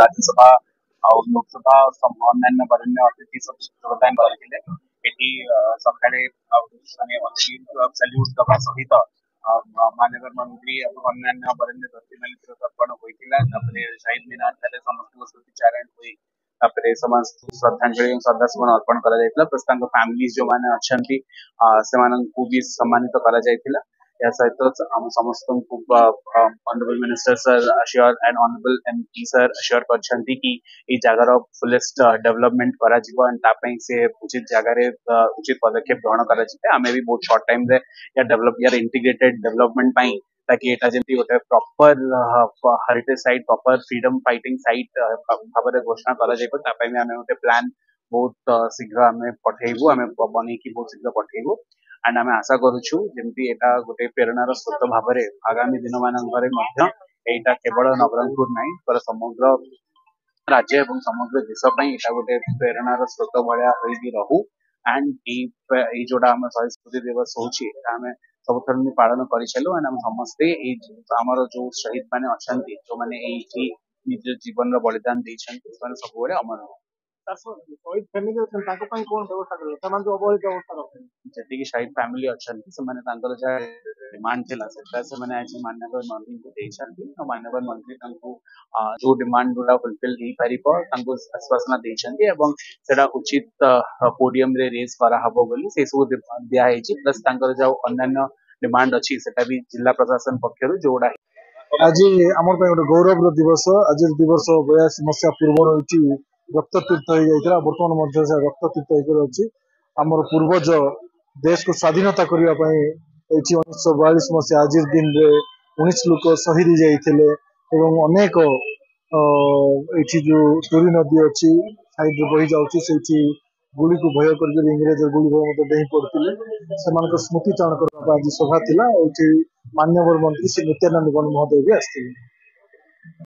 ରାଜ୍ୟସଭା ଆଉ ଲୋକସଭା, ଅନ୍ୟାନ୍ୟ ବରେଣ୍ୟ ଅତିଥି ସବୁ ଯୋଗଦାନ କରିଥିଲେ। ଏଠି ସକାଳେ ଆଉ ମାନେ ସାଲ୍ୟୁଟ ଦବା ସହିତ ମାନ୍ୟବର ମନ୍ତ୍ରୀ ଏବଂ ଅନ୍ୟାନ୍ୟ ବରେଣ୍ୟ ବ୍ୟକ୍ତିମାନେ ତିଳତର୍ପଣ ହୋଇଥିଲା। ତାପରେ ଶହୀଦ ମିନାର ଠାରେ ସମସ୍ତଙ୍କ ସ୍ମୃତିଚାରଣ ହୋଇ ତାପରେ ସମସ୍ତଙ୍କୁ ଶ୍ରଦ୍ଧାଞ୍ଜଳି ଏବଂ ଶ୍ରଦ୍ଧାସୁମନ ଅର୍ପଣ କରାଯାଇଥିଲା। ପ୍ଲସ୍ ତାଙ୍କ ଫ୍ୟାମିଲି ଯୋଉମାନେ ଅଛନ୍ତି, ସେମାନଙ୍କୁ ବି ସମ୍ମାନିତ କରାଯାଇଥିଲା। ଏହା ସହିତ ଆମ ସମସ୍ତଙ୍କୁ honourable minister sir assure and honourable MP sir assure କରିଛନ୍ତି କି ଏଇ ଜାଗାର ଫୁଲେଷ୍ଟ ଡେଭଲପମେଣ୍ଟ କରାଯିବ ଆଣ୍ଡ ତା ପାଇଁ ସେ ଉଚିତ ଜାଗାରେ ଉଚିତ ପଦକ୍ଷେପ ଗ୍ରହଣ କରାଯିବ। ଆମେ ବି ବହୁତ ସର୍ଟ ଟାଇମରେ ୟା ଡେଭଲପ ୟାର ଇଣ୍ଟିଗ୍ରେଟେଡ ଡେଭଲପମେଣ୍ଟ ପାଇଁ, ତାକି ଏଇଟା ଯେମିତି ଗୋଟେ proper heritage site, proper freedom fighting site ଭାବରେ ଘୋଷଣା କରାଯାଇପାରିବ, ତା ପାଇଁ ବି ଆମେ ଗୋଟେ ପ୍ଲାନ୍ ବହୁତ ଶୀଘ୍ର ଆମେ ପଠେଇବୁ, ଆମେ ବନେଇକି ବହୁତ ଶୀଘ୍ର ପଠେଇବୁ। ଆଣ୍ଡ ଆମେ ଆଶା କରୁଛୁ ଯେମିତି ଏଇଟା ଗୋଟେ ପ୍ରେରଣାର ସ୍ରୋତ ଭାବରେ ଆଗାମୀ ଦିନମାନଙ୍କରେ ମଧ୍ୟ ଏଇଟା କେବଳ ନବରଙ୍ଗପୁର ନାହିଁ, ପୁରା ସମଗ୍ର ରାଜ୍ୟ ଏବଂ ସମଗ୍ର ଦେଶ ପାଇଁ ଏଇଟା ଗୋଟେ ପ୍ରେରଣାର ସ୍ରୋତ ଭଳିଆ ହୋଇକି ରହୁ। ଆଣ୍ଡ ଏଇ ଯୋଉଟା ଆମ ଶହୀଦ ସ୍ମୃତି ଦିବସ ହଉଛି, ଏଇଟା ଆମେ ସବୁଥର ଏମିତି ପାଳନ କରିଚାଲୁ। ଆଣ୍ଡ ଆମେ ସମସ୍ତେ ଏଇ ଆମର ଯୋଉ ଶହୀଦ ମାନେ ଅଛନ୍ତି, ଯୋଉମାନେ ଏଇଠି ନିଜ ଜୀବନର ବଳିଦାନ ଦେଇଛନ୍ତି, ସେମାନେ ସବୁବେଳେ ଅମର ହୁଅନ୍ତୁ। ଶହୀଦ ଫ୍ୟାମିଲି ଅଛନ୍ତି, ତାଙ୍କ ପାଇଁ କଣ ବ୍ୟବସ୍ଥା କରିବେ, ସେମାନେ ଯୋଉ ଅବହେଳିତ ଅବସ୍ଥାରେ ଅଛନ୍ତି? ଯେତିକି ଶହୀଦ ଫ୍ୟାମିଲି ଅଛନ୍ତି, ସେମାନେ ତାଙ୍କର ଯାହା ଡିମାଣ୍ଡ ଥିଲା, ସେଟା ସେମାନେ ଆଜି ମାନ୍ୟବର ମନ୍ତ୍ରୀଙ୍କୁ ଦେଇଛନ୍ତି। ଆଉ ମାନ୍ୟବର ମନ୍ତ୍ରୀ ତାଙ୍କୁ ଯୋଉ ଡିମାଣ୍ଡ ଗୁଡା ଫୁଲଫିଲ ହେଇପାରିବ ତାଙ୍କୁ ଆଶ୍ୱାସନା ଦେଇଛନ୍ତି ଏବଂ ସେଟା ଉଚିତ ପୋଡିୟମରେ ରେଜ୍ କରାହବ ବୋଲି ସେ ସବୁ ଦିଆହେଇଛି। ପ୍ଲସ୍ ତାଙ୍କର ଯୋଉ ଅନ୍ୟାନ୍ୟ ଡିମାଣ୍ଡ ଅଛି, ସେଟା ବି ଜିଲ୍ଲା ପ୍ରଶାସନ ପକ୍ଷରୁ ଯୋଉଗୁଡା ଆଜି ଆମର ପାଇଁ ଗୋଟେ ଗୌରବର ଦିବସ। ଆଜିର ଦିବସ 82 ମସିହା ପୂର୍ବରୁ ଏଇଠି ରକ୍ତତୀର୍ଥ ହେଇଯାଇଥିଲା। ବର୍ତ୍ତମାନ ମଧ୍ୟ ସେ ରକ୍ତତୀର୍ଥ ହେଇକରି ଅଛି। ଆମର ପୂର୍ବଜ ଦେଶକୁ ସ୍ୱାଧୀନତା କରିବା ପାଇଁ ଏଇଠି 1942 ମସିହା ଆଜିର ଦିନରେ 19 ଲୋକ ଶହୀଦ ହେଇଯାଇଥିଲେ ଏବଂ ଅନେକ ଏଇଠି ଯୋଉ ଟୁରି ନଦୀ ଅଛି, ସାଇଡରେ ବହି ଯାଉଛି, ସେଇଠି ଗୁଳିକୁ ଭୟ କରିକରି, ଇଂରେଜ ଗୁଳି ଭୟ ମଧ୍ୟ ଡେଇଁ ପଡିଥିଲେ। ସେମାନଙ୍କ ସ୍ମୃତି ଚାରଣ କରିବା ପାଇଁ ଆଜି ସଭା ଥିଲା। ଏଇଠି ମାନ୍ୟବର ମନ୍ତ୍ରୀ ଶ୍ରୀ ନିତ୍ୟାନନ୍ଦ ଗଣ୍ଡ ମହୋଦୟ ବି ଆସିଥିଲେ।